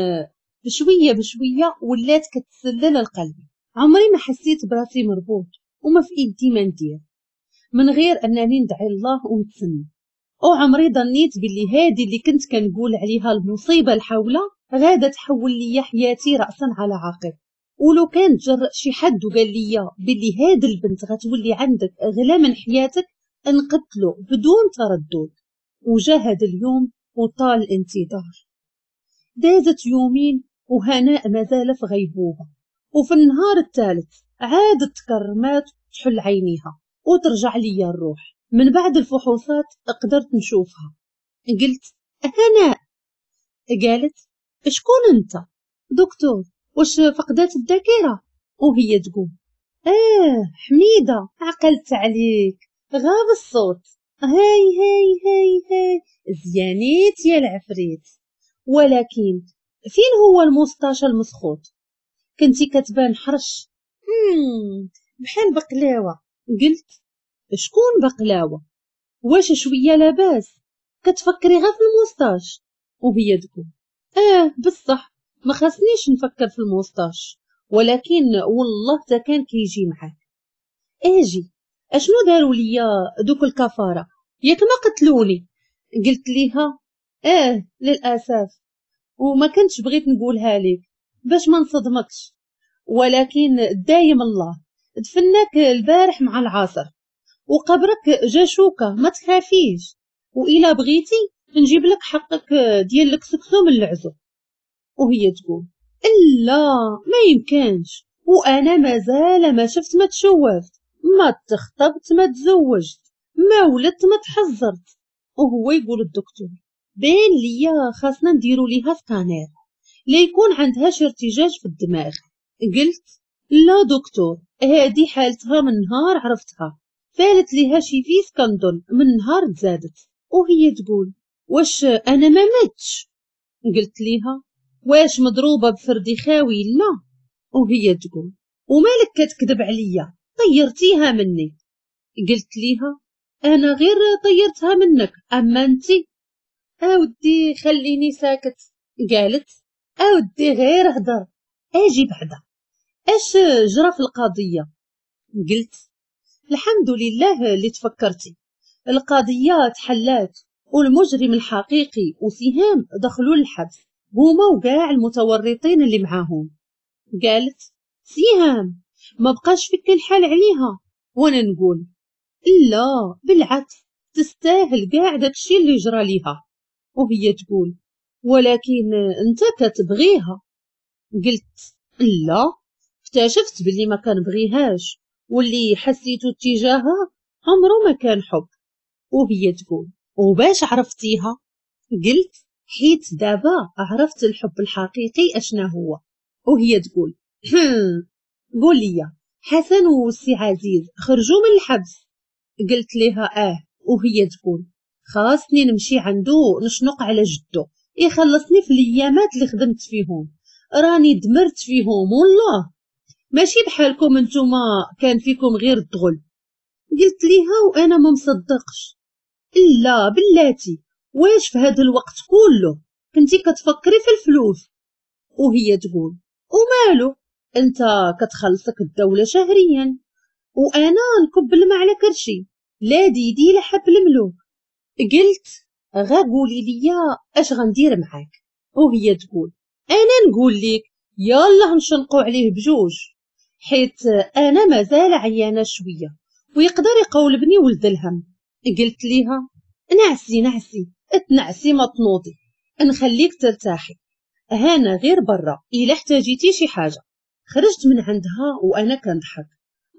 بشوية بشوية ولات كتسلل لقلبي. عمري ما حسيت براسي مربوط وما في ايدي ما ندير من غير انني ندعي الله ونتسنى. وعمري ظنيت باللي هادي اللي كنت كنقول عليها المصيبة الحوله غاده تحول لي حياتي راسا على عقب. ولو كان تجرأ شي حد وقال لي باللي هاد البنت غتولي عندك اغلى من حياتك نقتلو بدون تردد. وجا هاد اليوم وطال الانتظار. دازت يومين وهناء مازال في غيبوبة، وفي النهار الثالث عادت تكرمات تحل عينيها وترجع لي الروح. من بعد الفحوصات قدرت نشوفها. قلت هناء، قالت شكون انت؟ دكتور واش فقدات الذاكرة؟ وهي تقول حميده عقلت عليك، غاب الصوت، هاي هاي هاي هاي زيانيت يا العفريت. ولكن فين هو ال moustache المسخوط؟ كنتي كتبان حرش بحال بقلاوه. قلت شكون بقلاوه؟ واش شوية لاباس كتفكري غير في ال moustache؟ وهي تقول بصح ما خاصنيش نفكر في ال moustache، ولكن والله تا كان كيجي معاك. اجي اشنو داروا ليا دوك الكفارة؟ ياك ما قتلوني؟ قلت ليها للاسف، وما كنتش بغيت نقولها لك باش ما نصدمكش، ولكن دايم الله دفناك البارح مع العصر وقبرك جا شوكه، ما تخافيش، وإلا بغيتي نجيب لك حقك ديال الكسكسو من العزو. وهي تقول لا ما يمكنش، وانا مازال ما شفت ما تشوفت، ما تخطبت ما تزوجت، ما ولدت ما تحزرت. وهو يقول الدكتور بان ليا خاصنا نديرو ليها سكانير ليكون عندها شي ارتجاج في الدماغ. قلت لا دكتور، هادي حالتها من نهار عرفتها، فالت ليها شي vis كنظن من نهار تزادت. وهي تقول واش انا ما متش؟ قلت ليها واش مضروبة بفردي خاوي؟ لا. وهي تقول ومالك كتكذب عليا، طيرتيها مني. قلت ليها انا غير طيرتها منك، اما انتي اودي خليني ساكت. قالت اودي غير هضر، اجي بعدا اش جرى في القضية؟ قلت الحمد لله اللي تفكرتي، القضية تحلات والمجرم الحقيقي وسهام دخلوا الحبس هما وكاع المتورطين اللي معاهم. قالت سهام ما بقاش فيك الحال عليها؟ وانا نقول لا بالعكس تستاهل كاع داكشي اللي جرى ليها. وهي تقول ولكن انت كتبغيها. قلت لا، اكتشفت باللي ما كنبغيهاش، واللي حسيته اتجاهها عمره ما كان حب. وهي تقول وباش عرفتيها؟ قلت حيت دابا عرفت الحب الحقيقي اشنا هو. وهي تقول قول لي حسن والسي عزيز خرجوا من الحبس؟ قلت لها وهي تقول خاصني نمشي عنده نشنق على جدو يخلصني في الايامات اللي خدمت فيهم، راني دمرت فيهم والله، ماشي بحالكم انتوما كان فيكم غير الدغل. قلت ليها وانا ما مصدقش، لا بلاتي واش في هذا الوقت كله كنتي كتفكري في الفلوس؟ وهي تقول ومالو انت كتخلصك الدولة شهريا وانا نكب الماء على كرشي، لا ديدي لا حب الملوك. قلت غا قولي ليا اش غندير معاك؟ وهي تقول انا نقول لك يلا نشنقو عليه بجوج، حيت انا مازال عيانه شوية ويقدر يقولبني ولد الهم. قلت ليها نعسي نعسي اتنعسي ما تنوضي، نخليك ترتاحي، هانا غير برا الا احتاجيتي شي حاجة. خرجت من عندها وانا كنضحك،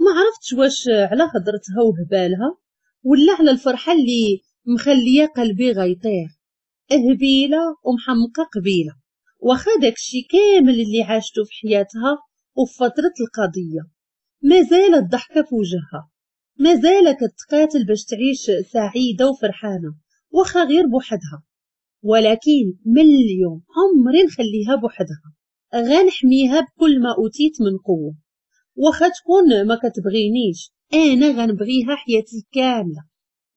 ما عرفتش واش على هضرتها وهبالها ولا على الفرحة اللي مخليه قلبي غيطير. هبيله ومحمقه قبيلة، واخا داكشي كامل اللي عاشته في حياتها وفي فترة القضية مازال الضحكة في وجهها، مازال كتقاتل باش تعيش سعيدة وفرحانه واخا غير بوحدها. ولكن من اليوم عمري نخليها بوحدها، غنحميها بكل ما اوتيت من قوة، واخا تكون ما كتبغينيش انا غنبغيها حياتي كاملة.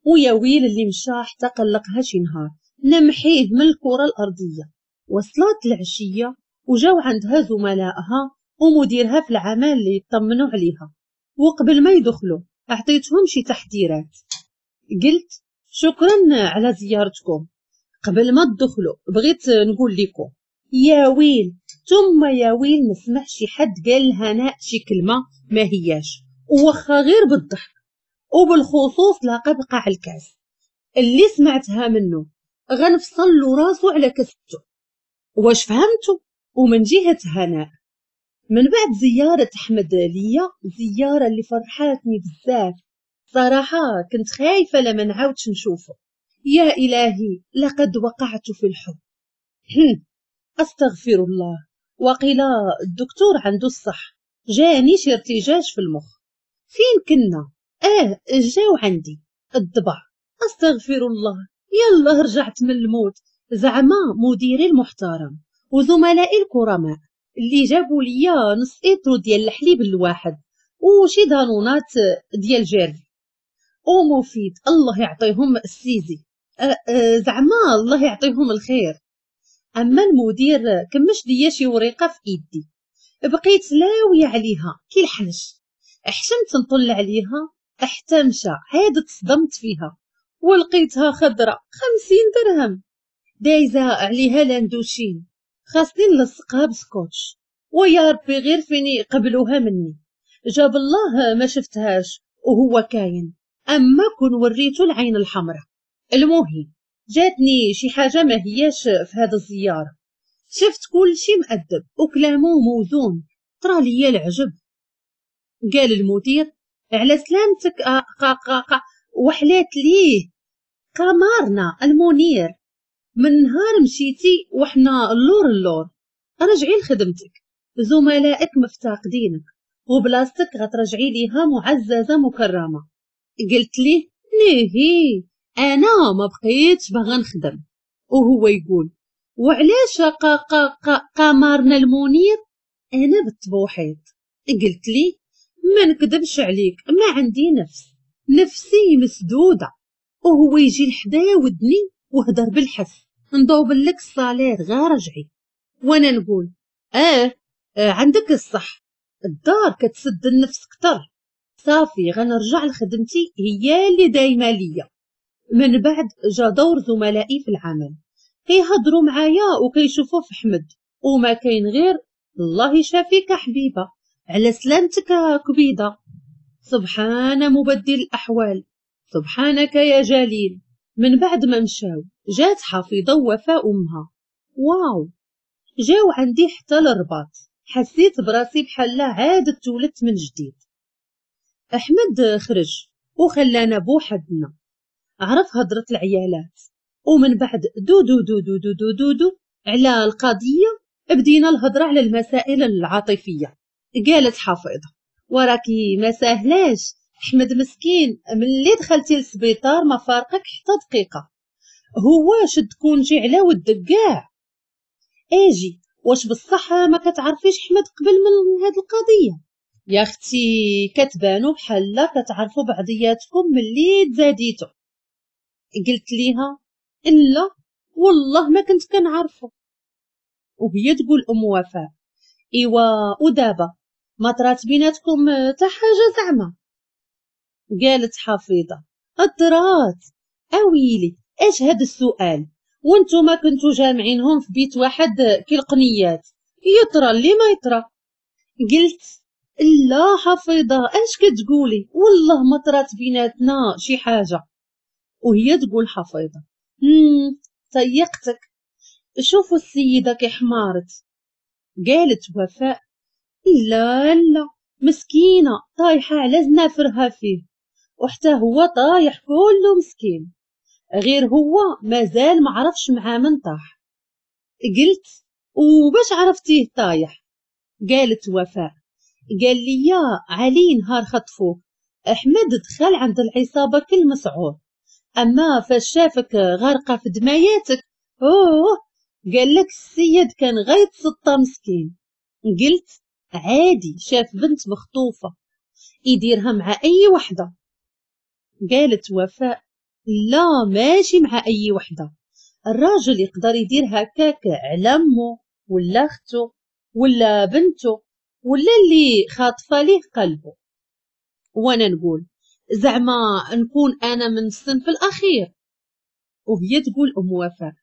ويا ويل اللي مشى حتى قلقها شي نهار نمحيه من الكره الارضية. وصلت العشية وجاو عندها زملائها ومديرها في العمل اللي يطمنوا عليها، وقبل ما يدخلوا اعطيتهم شي تحذيرات. قلت شكرا على زيارتكم، قبل ما تدخلوا بغيت نقول لكم يا ويل ثم يا ويل نسمع شي حد قال لهناء شي كلمة ما هياش، وخا غير بالضحك، وبالخصوص لقب قاع الكاس اللي سمعتها منه غنفصل له راسو على كسبته. واش فهمتوا؟ ومن جهة هناء من بعد زيارة احمد ليا، زيارة اللي فرحاتني بزاف صراحة، كنت خايفة لما نعاودش نشوفه. يا الهي لقد وقعت في الحب، استغفر الله. وقيل الدكتور عنده الصح، جاني شي ارتجاج في المخ. فين كنا؟ جاو عندي الضبع، استغفر الله، يلا رجعت من الموت. زعما مديري المحترم وزملائي الكرماء اللي جابوا ليا نص ايترو ديال الحليب الواحد وشي دانونات ديال جيرفي ومفيد، الله يعطيهم السيزي، زعما الله يعطيهم الخير. اما المدير كمش ليا شي ورقة في ايدي، بقيت لاويه عليها كي الحنش، حشمت نطل عليها حتى مشى، عاد تصدمت فيها ولقيتها خضرة 50 درهم دايزه عليها l'Indochine، خاصني نلصقها بسكوتش، ويا ربي غير فين يقبلوها مني. جاب الله ما شفتهاش وهو كاين، اما كون وريتو العين الحمراء. المهم جاتني شي حاجة ما هياش في هذا الزيارة، شفت كل شي مؤدب وكلامه موزون، طرا ليا العجب. قال المدير على سلامتك قا قا قا، وحلات ليه قمرنا المنير، من نهار مشيتي وحنا اللور اللور، رجعي لخدمتك، زملائك مفتقدينك وبلاصتك غترجعي ليها معززه مكرمة. قلت ليه نهي انا ما بقيتش باغا نخدم. وهو يقول وعلاش قا قا قا قمرنا المنير؟ انا بالتبوحيط. قلت لي ما نكذبش عليك، ما عندي نفس، نفسي مسدودة. وهو يجي لحدا ودني وهدر بالحس، نضوب لك ال salaire غير رجعي. وانا نقول عندك الصح، الدار كتسد النفس كتر، صافي غنرجع لخدمتي هي اللي دايمه ليا. من بعد جا دور زملائي في العمل، كيهضروا معايا وكيشوفوا في احمد، وما كاين غير الله يشافيك حبيبه، على سلامتك كبيده، سبحان مبدل الاحوال، سبحانك يا جليل. من بعد ما مشاو جات حفيظة ووفاء امها، واو جاو عندي حتى للرباط، حسيت براسي بحال عاد تولدت من جديد. احمد خرج وخلانا بوحدنا، عرف هضره العيالات، ومن بعد دو دو دو دو دو دو دو, دو على القضية بدينا الهضرة على المسائل العاطفية. قالت حفيظة وراكي ما ساهلاش، احمد مسكين ملي دخلتي للسبيطار ما فارقك حتى دقيقة، هو شد congé على ودك كاع. اجي واش بصح ما كتعرفيش احمد قبل من هاد القضية؟ يا اختي كتبانو بحال لا كتعرفوا بعضياتكم ملي تزاديتو. قلت ليها لا والله ما كنت كنعرفو. وهي تقول ام وفاء ايوا ودابا ما طرات بيناتكم حتى حاجة زعما؟ قالت حفيظة طرات. اويلي اش هاد السؤال، وانتم كنتو جامعينهم في بيت واحد كي القنيات، يطرى اللي ما يطرى. قلت لا حفيظة اش كتقولي، والله ما طرات بيناتنا شي حاجة. وهي تقول حفيظة طيقتك، شوفوا السيدة كي حمارت. قالت وفاء لا لا مسكينه طايحة على زنافرها فيه، وحتى هو طايح كله مسكين، غير هو مازال ما عرفش مع من طاح. قلت وباش عرفتيه طايح؟ قالت وفاء قال لي يا علي نهار خطفوه احمد دخل عند العصابة كل مسعور، اما فاش شافك غارقة في دماياتك اوه قال لك السيد كان غيتسطى مسكين. قلت عادي شاف بنت مخطوفه يديرها مع اي وحده. قالت وفاء لا ماشي مع اي وحده، الراجل يقدر يدير هكاك على امه ولا اخته ولا بنته ولا اللي خاطفه ليه قلبه. وانا نقول زعما نكون انا من الصنف الاخير. وهي تقول ام وفاء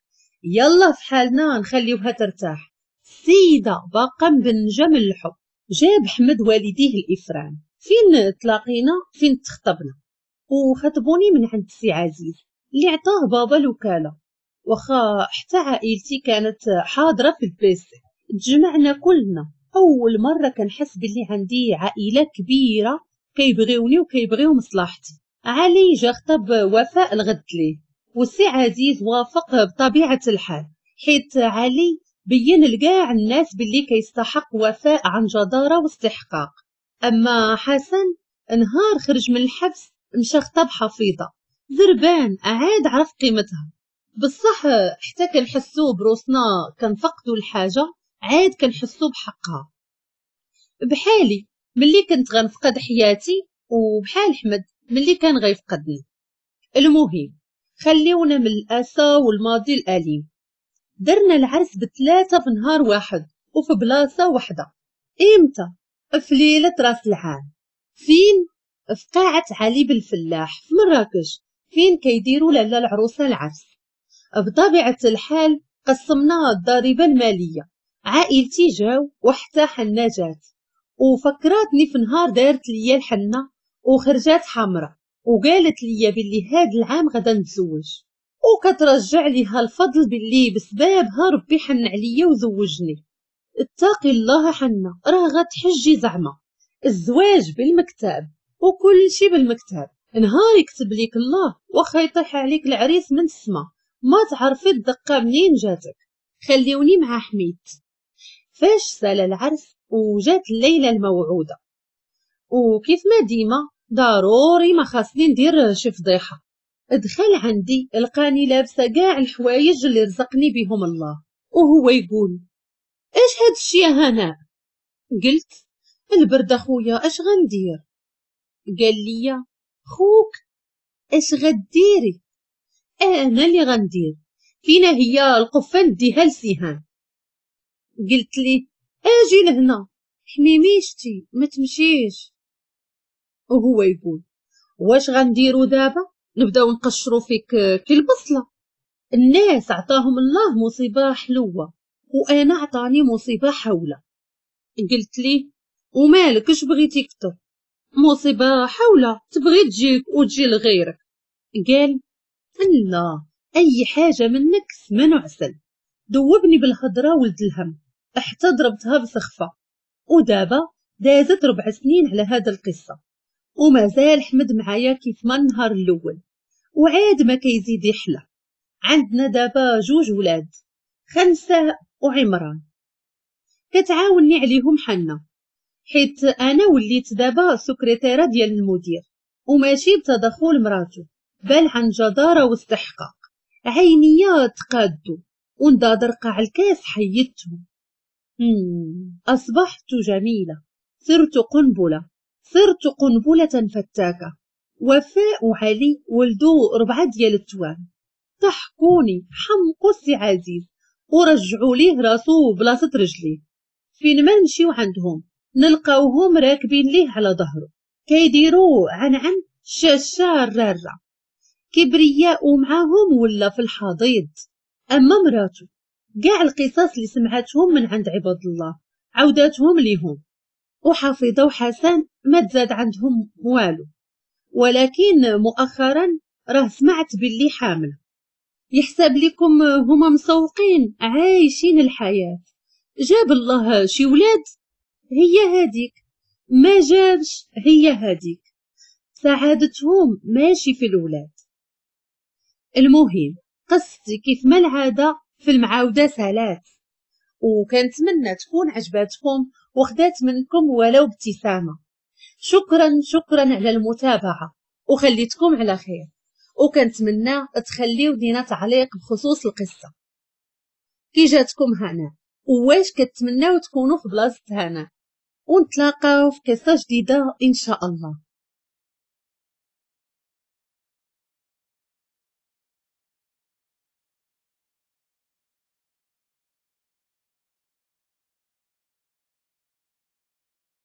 يلا في حالنا نخليوها ترتاح، السيدة باقا مبنجه من الحب. جاب حمد والديه الافران، فين تلاقينا فين تخطبنا، وخطبوني من عند السي عزيز اللي عطاه بابا الوكالة، واخا حتى عائلتي كانت حاضره في ال PC. تجمعنا كلنا، اول مرة كنحس باللي عندي عائلة كبيرة كيبغيوني وكيبغيو مصلحتي. علي جا خطب وفاء الغد ليه، والسي عزيز وافق بطبيعة الحال، حيت علي بين لكاع الناس باللي كيستحق وفاء عن جدارة واستحقاق. اما حسن نهار خرج من الحبس مشى خطب حفيظة زربان، عاد عرف قيمتها. بصح حتى كنحسو بروسنا كنفقدو الحاجة عاد كنحسو بحقها. بحالي ملي كنت غنفقد حياتي، وبحال حمد ملي كان غيفقدني. المهم خليونا من الأسى والماضي الأليم. درنا العرس ب3 في نهار واحد وفي بلاصة واحدة. إمتى؟ في ليلة راس العام. فين؟ في قاعة علي بالفلاح في مراكش، فين كيديروا لاله العروسة العرس. بطبيعة الحال قسمنا الضريبة المالية، عائلتي جاو وحتى حنا جات، وفكراتني في نهار دارت ليا الحنة وخرجات حمراء وقالت ليا باللي هاد العام غدا نتزوج، وكترجع ليها الفضل باللي بسبابها ربي حن عليا وزوجني. اتقي الله حنا، راه غتحجي زعما. الزواج بالمكتاب وكل شي بالمكتاب، نهار يكتب ليك الله واخا يطيح عليك العريس من السما ما تعرفي الدقة منين جاتك. خليوني مع حميد. فاش سال العرس وجات الليلة الموعوده، وكيف ما ديما ضروري ما خاصني ندير شي فضيحة. دخل عندي لقاني لابسه كاع الحوايج اللي رزقني بهم الله، وهو يقول اش هاد الشي يا هناء؟ قلت البرد اخويا اش غندير؟ قال لي خوك اش غديري؟ انا اللي غندير، فينا هي القفه نديها لسيهان. قلت لي اجي لهنا حميميشتي ما تمشيش. وهو يقول واش غنديرو دابا؟ نبداو نقشرو فيك كي البصله. الناس عطاهم الله مصيبة حلوة وانا عطاني مصيبة حوله. قلت لي ومالك اش بغيتي كتر؟ مصيبة حوله تبغي تجيك وتجي لغيرك. قال لا، اي حاجة منك سمن وعسل. دوبني بالهضره ولد الهم حتى ضربتها بسخفه. ودابا دازت 4 سنين على هذا القصة، ومازال حمد معايا كيف ما النهار الاول، وعاد ما كيزيد يحلى. عندنا دابا 2 ولاد، خنساء وعمران، كتعاوني عليهم حنا، حيت انا وليت دابا سكرتيره ديال المدير، وماشي بتدخل مراته بل عن جداره واستحقاق. عينيا تقادو ونضادر قاع الكاس حيدتهم. اصبحت جميلة، صرت قنبلة، صرت قنبلة فتاكة. وفاء وعلي ولدو 4 ديال التوام، ضحكوني حمقوا السي عزيز ورجعوا ليه راسو بلاصة رجليه. فين ما نمشيو عندهم نلقاوهم راكبين ليه على ظهره، كيديروا عن شاشة الرارة، كبرياء معاهم ولا في الحضيض. اما مراتو كاع القصص اللي سمعتهم من عند عباد الله عوداتهم ليهم، وحفيظه وحسن ما تزاد عندهم والو. ولكن مؤخرا راه سمعت باللي حامل. يحسب لكم هما مسوقين عايشين الحياة، جاب الله شي ولاد هي هاديك، ما جابش هي هاديك، سعادتهم ماشي في الولاد. المهم قصتي كيف ما العادة في المعاوده سالات، وكنتمنى تكون عجباتكم وخدات منكم ولو ابتسامة. شكرا شكرا على المتابعة، وخليتكم على خير، وكنتمنى تخليو لينا تعليق بخصوص القصة كي جاتكم هنا، وواش كتمناو تكونوا في بلاصة هنا، ونتلاقاو في قصة جديدة ان شاء الله.